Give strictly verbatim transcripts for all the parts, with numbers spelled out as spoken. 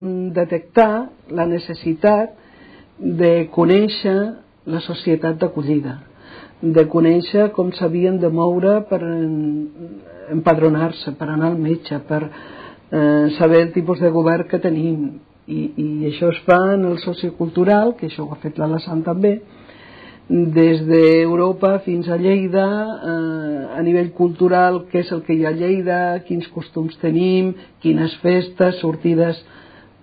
detectar la necessitat de conèixer la societat d'acollida, de conèixer com s'havien de moure per empadronar-se, per anar al metge, per eh, saber el tipus de govern que tenim. I, i això es fa en el sociocultural, que això ho ha fet l'Alassane també, des d'Europa fins a Lleida, eh, a nivell cultural, què és el que hi ha a Lleida, quins costums tenim, quines festes, sortides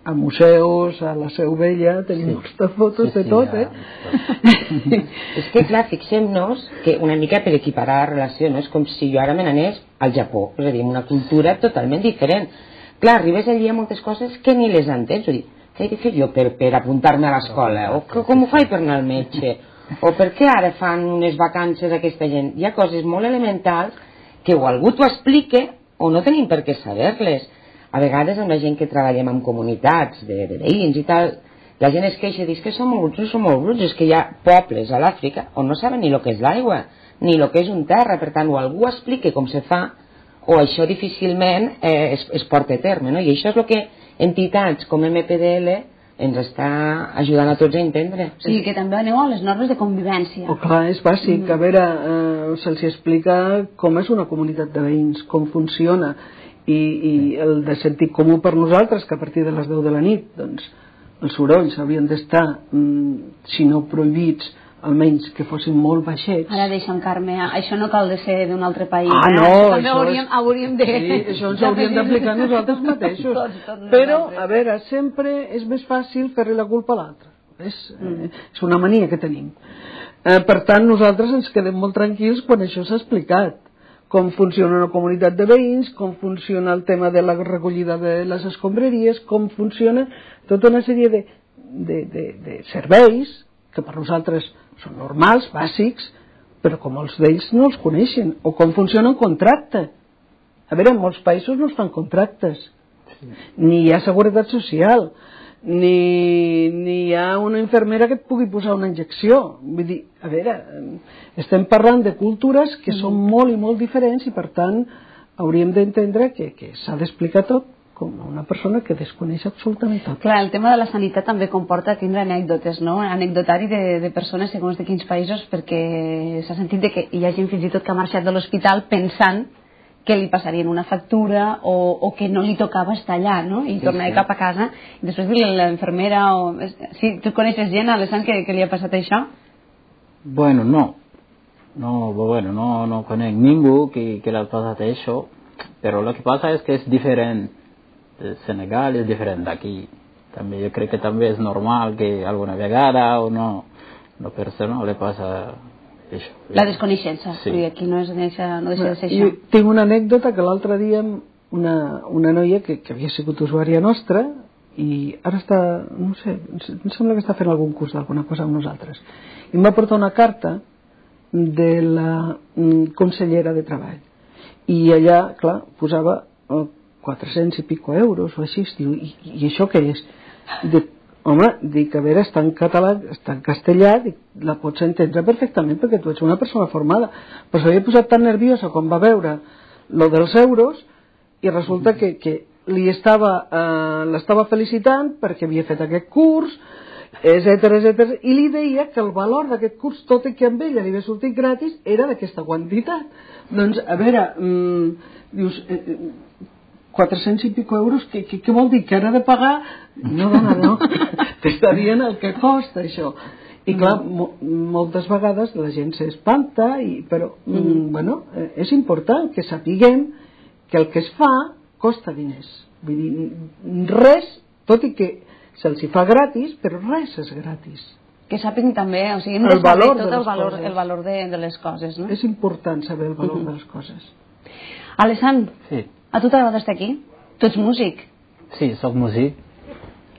a museus, a la Seu Vella, tenim moltes fotos de tot, eh? És que, clar, fixem-nos que una mica per equiparar la relació, no? És com si jo ara me n'anés al Japó, és a dir, una cultura totalment diferent. Clar, arribes allí a moltes coses que ni les entens, vull dir, què he de fer jo per, per apuntar-me a l'escola? O com ho faig per anar al metge? O per què ara fan unes vacances aquesta gent? Hi ha coses molt elementals que o algú t'ho explique o no tenim per què saber-les. A vegades amb la gent que treballem en comunitats de, de veïns i tal, la gent es queixa i diu que som molt bruts, som molt bruts, és que hi ha pobles a l'Àfrica on no saben ni el que és l'aigua, ni el que és un terra, per tant, o algú explique com se fa, o això difícilment eh, es, es porta a terme, no? I això és el que entitats com M P D L ens està ajudant a tots a entendre. O sigui, que també aneu a les normes de convivència. Oh, clar, és bàsic. A veure, eh, se'ls explica com és una comunitat de veïns, com funciona, i, i el de sentit comú per nosaltres, que a partir de les deu de la nit, doncs, els sorolls haurien d'estar, mm, si no prohibits, almenys que fossin molt baixets. Ara deixa'm, Carme, això no cal de ser d'un altre país. Ah, eh? no, això també això hauríem, és... hauríem de... Sí, això ens hauríem d'aplicar nosaltres mateixos. Tots, tots Però, a veure, sempre és més fàcil fer-li la culpa a l'altre. És, mm. eh, és una mania que tenim. Eh, per tant, nosaltres ens quedem molt tranquils quan això s'ha explicat. Com funciona una comunitat de veïns, com funciona el tema de la recollida de les escombraries, com funciona tota una sèrie de, de, de, de serveis que per nosaltres són normals, bàsics, però com molts d'ells no els coneixen, o com funciona un contracte. A veure, en molts països no es fan contractes, sí. Ni hi ha seguretat social, ni, ni hi ha una infermera que et pugui posar una injecció. Vull dir, a veure, estem parlant de cultures que mm. són molt i molt diferents i per tant hauríem d'entendre que, que s'ha d'explicar tot com una persona que desconeix absolutament tot. Clar, el tema de la sanitat també comporta tindre anècdotes, no? Anecdotari de, de persones segons de quins països, perquè s'ha sentit de que hi ha gent fins i tot que ha marxat de l'hospital pensant que li passarien una factura o, o que no li tocava estar allà, no? I sí, tornar sí. cap a casa i després dir a l'infermera o... Sí, tu coneixes gent, Alassane, que, que li ha passat això? Bueno, no. No, bueno, no, no conec ningú que, que le ha pasado eso, pero lo que pasa es que es diferente. De Senegal es diferente aquí. También yo creo que también es normal que alguna vegada o no, una persona le pasa eso. La desconeixença, sí. Aquí no, és deixa, no deixa de ser això. Jo tinc una anècdota que l'altre dia una, una noia que, que havia sigut usuària nostra i ara està, no sé, em sembla que està fent algun curs d'alguna cosa amb nosaltres. I em va portar una carta de la consellera de Treball. I allà, clar, posava quatre-cents i pico euros o així, diu, i, i això què és? Dic, home, dic, a veure, està en català, està en castellà, dic, la pots entendre perfectament perquè tu ets una persona formada, però s'havia posat tan nerviosa quan va veure lo dels euros i resulta que, que li estava, eh, l'estava felicitant perquè havia fet aquest curs, etcètera, etcètera, i li deia que el valor d'aquest curs, tot i que amb ella li havia sortit gratis, era d'aquesta quantitat. Doncs, a veure, mmm, dius... Eh, quatre-cents i pico euros, què, què, què vol dir? Que ara de pagar? No, dona, no. T'està dient el que costa això. I clar, mo moltes vegades la gent s'espanta, i, però mm, bueno, és important que sapiguem que el que es fa costa diners. Vull dir, res, tot i que se'ls hi fa gratis, però res és gratis. Que sàpiguen també, o sigui, hem de saber tot el valor, el valor de, de les coses, no? És important saber el valor mm-hmm. de les coses. Alassane, sí. A tu t'agrada estar aquí? Tu ets músic? Sí, soc músic.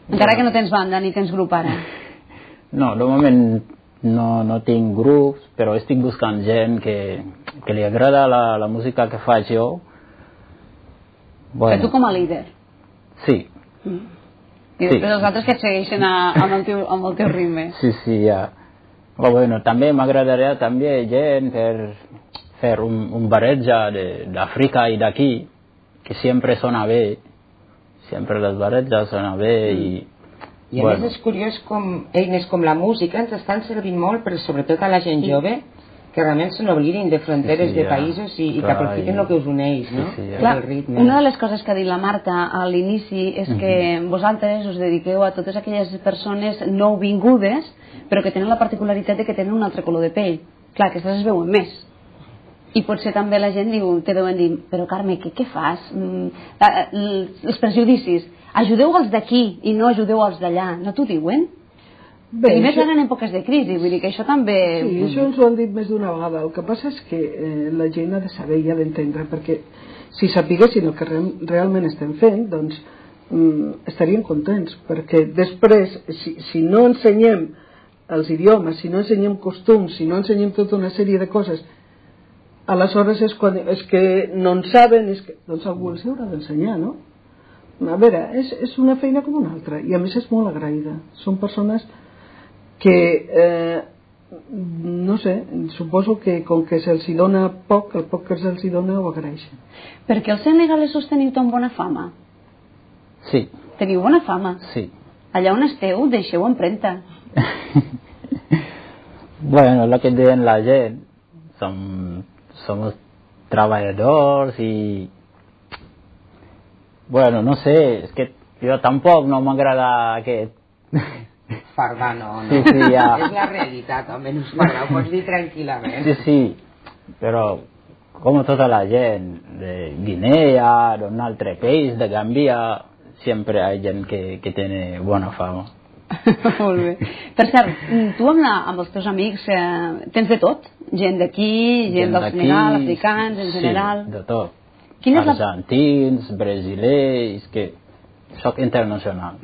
Encara que no tens banda ni tens grup ara? No, de moment no, no tinc grups, però estic buscant gent que, que li agrada la, la música que faig jo. Bueno. Que tu com a líder? Sí. Mm. I després sí. Els altres que et segueixen a, amb, el teu, amb el teu ritme. Sí, sí, ja. Però bueno, també m'agradaria també gent per fer un, un barreja d'Àfrica i d'aquí, que sempre sona bé, sempre les barreges sona bé i... I a bueno. més és curiós com eines com la música ens estan servint molt, però sobretot a la gent sí. jove, que realment se n'oblidin de fronteres sí, sí, de països i, i que aprofitin el que us uneix, no? Sí, sí, ja. Clar, el ritme. Una de les coses que ha dit la Marta a l'inici és que uh-huh. vosaltres us dediqueu a totes aquelles persones nouvingudes, però que tenen la particularitat de que tenen un altre color de pell. Clar, aquestes es veuen més. I potser també la gent diu, te deuen dir, però Carme, què, què fas? Mm, els prejudicis, ajudeu els d'aquí i no ajudeu els d'allà, no t'ho diuen? Bé, I més això... en èpoques de crisi, vull dir que això també... Sí, això ens ho han dit més d'una vegada. El que passa és que eh, la gent ha de saber i ha d'entendre, perquè si sapiguessin el que re realment estem fent, doncs mm, estarien contents, perquè després, si, si no ensenyem els idiomes, si no ensenyem costums, si no ensenyem tota una sèrie de coses, aleshores és, quan, és que no en saben, és que, doncs algú els haurà d'ensenyar, no? A veure, és, és una feina com una altra, i a més és molt agraïda. Són persones que, eh, no sé, suposo que com que se'ls dona poc, el poc que se'ls dona ho agraeixen. Perquè els senegalesos teniu tan bona fama? Sí. Teniu bona fama? Sí. Allà on esteu, deixeu empremta. Bueno, lo que diuen la gent, som, somos treballadors i... Bueno, no sé, és que jo tampoc no m'agrada aquest... Fardar, no, no. Sí, sí, ja. És la realitat, almenys fardar, ho pots dir tranquil·lament. Sí, sí, però com tota la gent de Guinea, d'un altre país, de Gambia, sempre hi ha gent que, que té bona fama. Molt bé. Per cert, tu amb, la, amb els teus amics eh, tens de tot? Gent d'aquí, gent, gent del Senegal, africans, en general? Sí, de tot. Quina és Argentins, la... brasilers, que soc internacional.